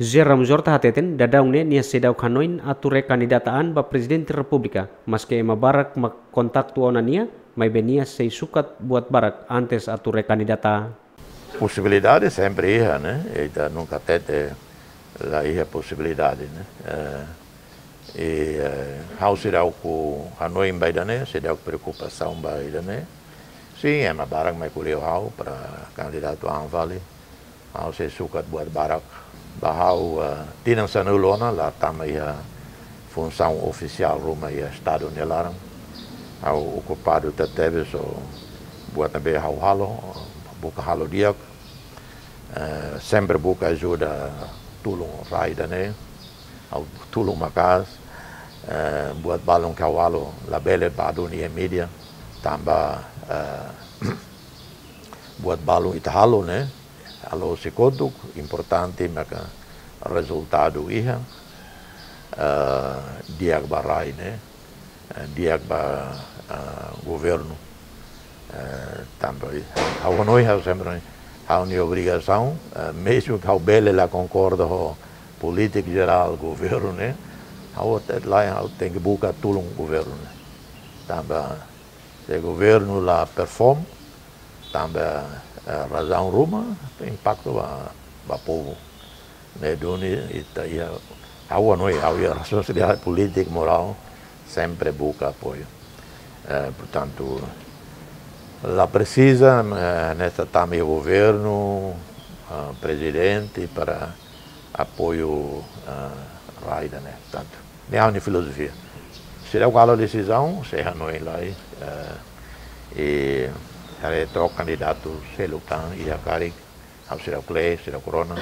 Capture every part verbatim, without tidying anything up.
José Ramos Horta hateten, daudaun ne'e nia seidauk hanoin atu rekandidata an ba Prezidente Repúblika, maske ema barak mak kontaktu ona nia, maibé nia sei sukat buat barak antes atu rekandidata. Posibilidade sempre iha, ne'e? Ita nunka hatete la iha posibilidade, ne'e? Eh, i, eh, ha'u seidauk hanoin ba ida-ne'e, seidauk preokupasaun ba ida-ne'e. Sin, ema barak mai ko'alia ho ha'u para kandidatu an fali. Ha'u sei sukat buat barak. Ba ha'u, eh, tinan sanulu ona la tama iha funsaun ofisiál ruma iha Estadu nia laran. Ha'u okupadu tebetebes ho buat ne'ebé ha'u halo, buka halo di'ak. Eh, sempre buka ajuda tulun rai ida-ne'e. Ha'u tulun maka'as, eh, buat balun ke ha'u halo labele ba duni iha mídia. Tanba, eh, buat balun ita halo, ne'e? Halo husi kotuk, importante maka rezultadu iha, eh, di'ak ba rai, ne'e? Eh, di'ak ba, eh, governu. Eh, tanba ha'u hanoin, ha'u sempre hanoin, ha'u-nia obrigasaun, eh, mezmu ke ha'u bele la konkorda ho polítika jerál governu, ne'e? Ha'u te-, la, ha'u tenke buka tulun governu, ne'e? Tanba se governu la perform, tanba, eh, razaun ruma, impaktu ba, ba povu. Ne'e duni ita iha, ha'u hanoin, ha'u iha responsabilidade polítika, morál, sempre buka apoiu. Eh, portantu, la presiza, eh, ne'e ita tama iha governu, eh, prezidente para apoiu, eh, rai ida-ne'e. Portantu, ne'e ha'u-nia filozofia. Seidauk halo desizaun, sei hanoin lai, eh, i haree took kandidatu seluk tan iha karik, ha'u seidauk lee, seidauk rona.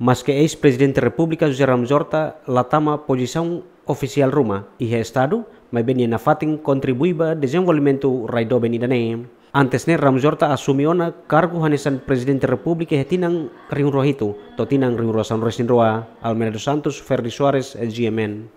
Maske eis-Prezidente Repúblika José Ramos Horta la tama pozisaun ofisiál ruma iha Estadu, maibé nia nafatin kontribui ba dezenvolvimentu rai doben ida-ne'e. Antes ne'e Ramos Horta asume ona kargu hanesan Prezidente Repúblika iha tinan rihun rua hitu to'o tinan rihun rua sanulu resin rua. Almeida dos Santos, Ferdi Soares, G M N.